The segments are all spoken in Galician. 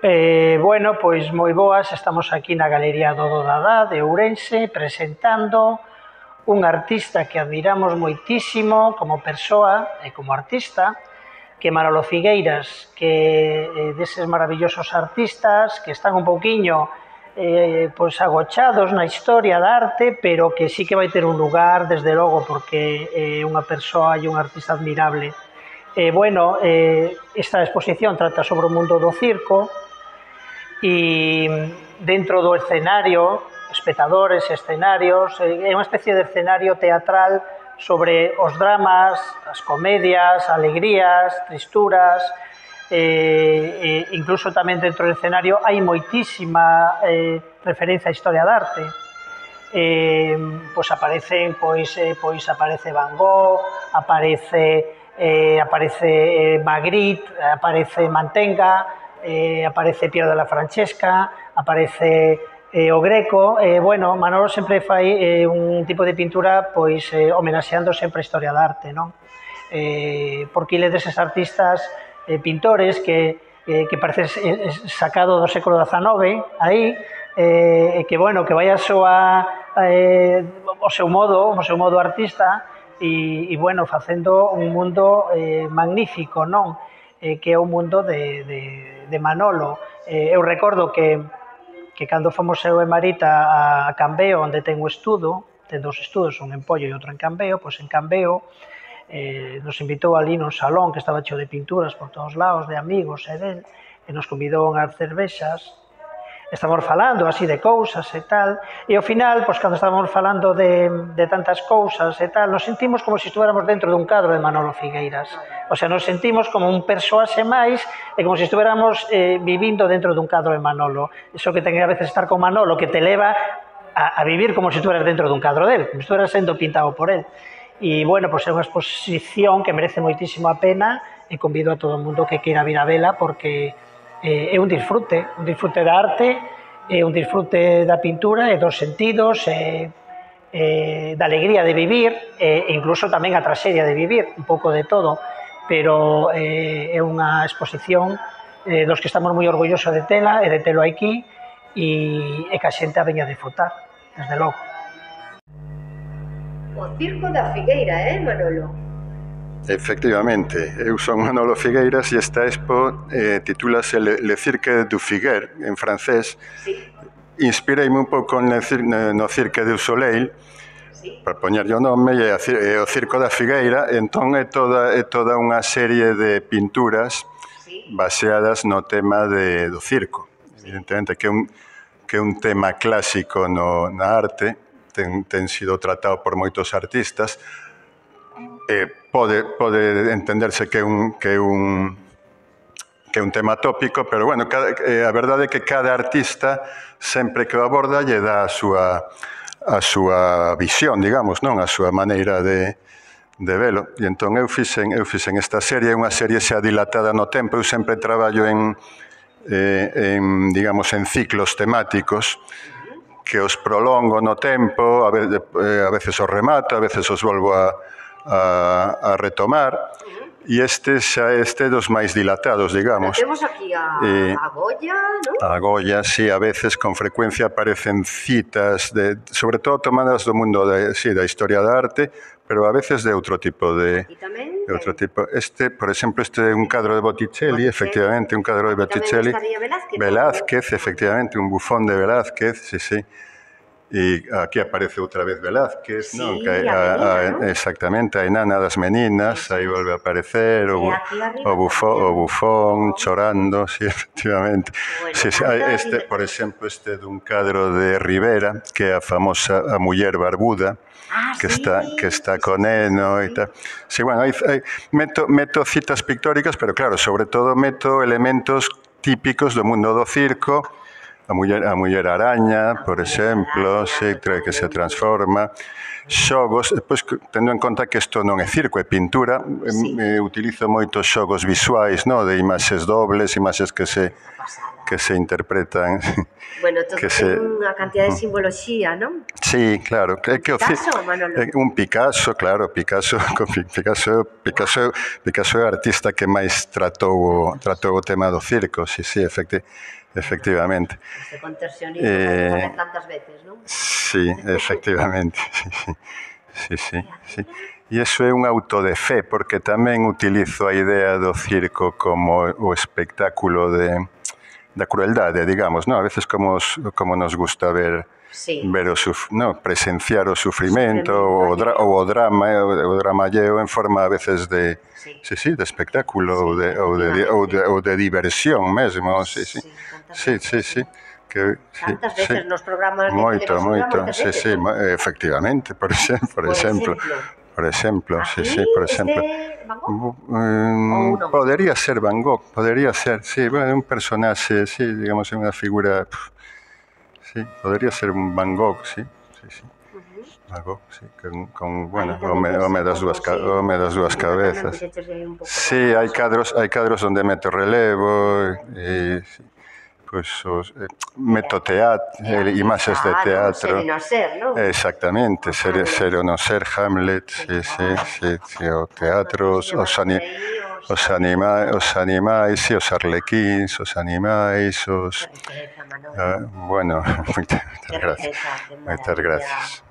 Bueno, pois moi boas, estamos aquí na Galería do Dadá de Ourense presentando un artista que admiramos moitísimo como persoa e como artista, que é Manolo Figueiras, que deses maravillosos artistas que están un pouquiño pois agochados na historia da arte, pero que sí que vai ter un lugar, desde logo, porque é unha persoa e un artista admirable. Bueno, esta exposición trata sobre o mundo do circo e dentro do escenario, espectadores, escenarios, é unha especie de escenario teatral sobre os dramas, as comedias, alegrías, tristuras, incluso tamén dentro do escenario hai moitísima referencia á historia da arte. Pois aparecen, aparece Van Gogh, aparece Magritte, aparece Mantenga, aparece Piero della Francesca, aparece o Greco. Bueno, Manolo sempre fai un tipo de pintura pois homenaxeando sempre a historia da arte, non? Porque ele deses artistas pintores que parece sacado do século XIX aí, que bueno, que vai a súa o seu modo artista e bueno, facendo un mundo magnífico, non? Que é o mundo de Manolo. Eu recordo que cando fomos eu e Marita a Cambeo, onde ten o estudo, ten dous estudos, un en Pollo e outro en Cambeo, pois en Cambeo nos invitou ali nun salón que estaba cheo de pinturas por todos lados, de amigos e del, e nos convidou unhas cervexas. Estamos falando así de cousas e tal, e ao final, pois cando estábamos falando de tantas cousas e tal, nos sentimos como se estuéramos dentro dun cadro de Manolo Figueiras. O sea, nos sentimos como un persoaxe máis e como se estuéramos vivindo dentro dun cadro de Manolo. Iso que ten a veces estar con Manolo, que te leva a vivir como se estueras dentro dun cadro del, como se estueras sendo pintado por él. E, bueno, pois é unha exposición que merece moitísimo a pena e convido a todo o mundo que queira vir a vela porque é un disfrute da arte, é un disfrute da pintura e dos sentidos, da alegría de vivir e incluso tamén a traxedia de vivir, un pouco de todo, pero é unha exposición dos que estamos moi orgullosos de tela e de telo aquí e que a xente a veña a disfrutar, desde logo. O Circo da Figueira, Manolo? Efectivamente, eu son Manolo Figueiras e esta expo titúlase Le Cirque du Figuer, en francés. Sí. Inspireime un pouco no Cirque du Soleil, sí, para poñerlle o nome, e o Circo da Figueira, entón é toda unha serie de pinturas, sí, baseadas no tema do circo. Sí. Evidentemente que é un tema clásico na arte, ten sido tratado por moitos artistas, pode entenderse que é un tema tópico, pero bueno, a verdade é que cada artista sempre que o aborda lle dá a súa visión, digamos, non? A súa maneira de velo. E entón eu fixen esta serie, unha serie xa dilatada no tempo. Eu sempre traballo en ciclos temáticos que os prolongo no tempo, a veces os remato, a veces os volvo a retomar, e este xa é dos máis dilatados, digamos. Temos aquí a Goya, non? A Goya, sí, a veces con frecuencia aparecen citas, sobre todo tomadas do mundo da historia da arte, pero a veces de outro tipo de... E tamén? Por exemplo, este é un cadro de Botticelli, efectivamente, un cadro de Botticelli. Tamén estaría Velázquez, efectivamente, un bufón de Velázquez, sí. E aquí aparece outra vez Velázquez, sí, non? Exactamente, a enana das meninas, aí volve a aparecer o bufón chorando, sí, efectivamente. Bueno, por exemplo, este dun cadro de Rivera, que é a famosa a muller barbuda, que está con Eno e tal. Sí, bueno, meto citas pictóricas, pero claro, sobre todo meto elementos típicos do mundo do circo. A muller araña, por exemplo, que se transforma. Xogos, depois, tendo en conta que isto non é circo, é pintura, utilizo moitos xogos visuais, de imaxes dobles, imaxes que se que se interpretan. Bueno, todo ten unha cantidad de simboloxía, non? Sí, claro. Picasso, Manolo? Un Picasso, claro. Picasso é o artista que máis tratou o tema do circo, sí, efectivamente. Este contorsionismo tantas veces, non? Sí, efectivamente. Sí. E iso é un auto de fe, porque tamén utilizo a idea do circo como o espectáculo da crueldade, digamos, ¿no? A veces como nos gusta ver presenciar o sufrimento, o dramalleo en forma a veces de de espectáculo ou de diversión mesmo, sí. Tantas veces nos programas de televisión. Moito, efectivamente, por exemplo. Por exemplo. Van Gogh? Podería ser Van Gogh, sí, bueno, un personaxe, sí, digamos, unha figura, sí, podería ser un Van Gogh, sí. Van Gogh, sí, con bueno, home das dúas cabezas. Sí, hai cadros onde meto relevo, pois meto imaxes de teatro. Ser e non ser, non? Exactamente, ser ou non ser, Hamlet, sí, o teatro, os animais, os arlequíns, os animais, bueno, moitas gracias.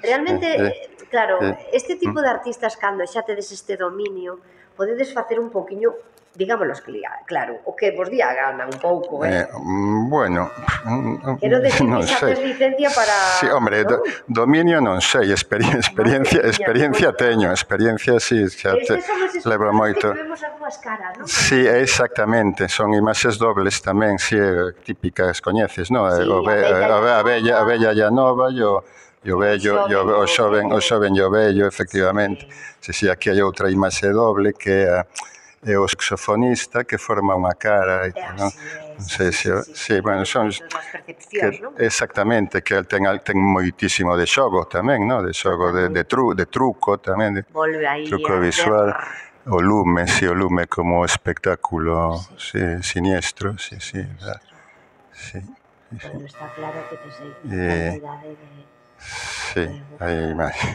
Realmente, claro, este tipo de artistas, cando xa tedes este dominio, podedes facer un pouquiño, digámoslo claro, o que vos día gana un pouco, Bueno, quero decir que xa tes licencia para... Sí, hombre, dominio non sei, experiencia teño, experiencia sí, xa levo moito. Que vemos as dúas caras, non? Sí, exactamente, son imaxes dobles tamén, sí, típicas, coñeces, non? A bella e a nova, o vello, o xoven e o vello, efectivamente. Sí, aquí hai outra imaxe doble que é o saxofonista que forma unha cara, non? Sí, bueno, son exactamente, que ten moitísimo de xogo tamén, non? De xogo de truco tamén, de truco visual, o lume como espectáculo siniestro, sí. Pero está claro que tes aí cantidade de... Sí, hai imaxes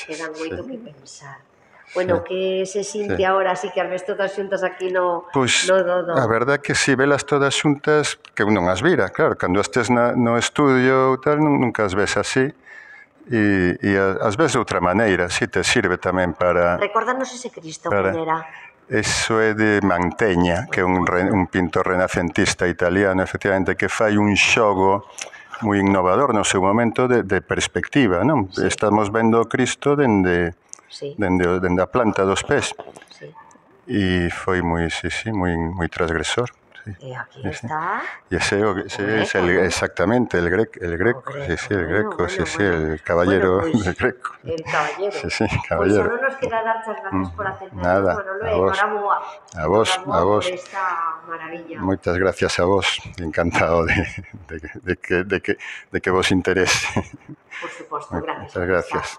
que dan moito que pensar. Bueno, que se sinte agora así que as ves todas xuntas aquí no Dodo? A verdad que si velas todas xuntas, que eu non as vira, claro, cando estes no estudio tal, nunca as ves así, e as ves de outra maneira, si te sirve tamén para... Recórdanos ese Cristo, quen era? Eso é de Mantegna, que é un pintor renacentista italiano, efectivamente, que fai un xogo moi innovador no seu momento de perspectiva, non? Estamos vendo o Cristo dende a planta dos pés. E foi moi transgresor. E aquí está... E ese é exactamente el Greco, el caballero del Greco. El caballero. Sí, caballero. Pois só non nos queda dar as gracias por atendernos, Nada, Manolo, a vos, por esta maravilla. Moitas gracias a vos, encantado de que vos interese. Por suposto, gracias. Moitas gracias.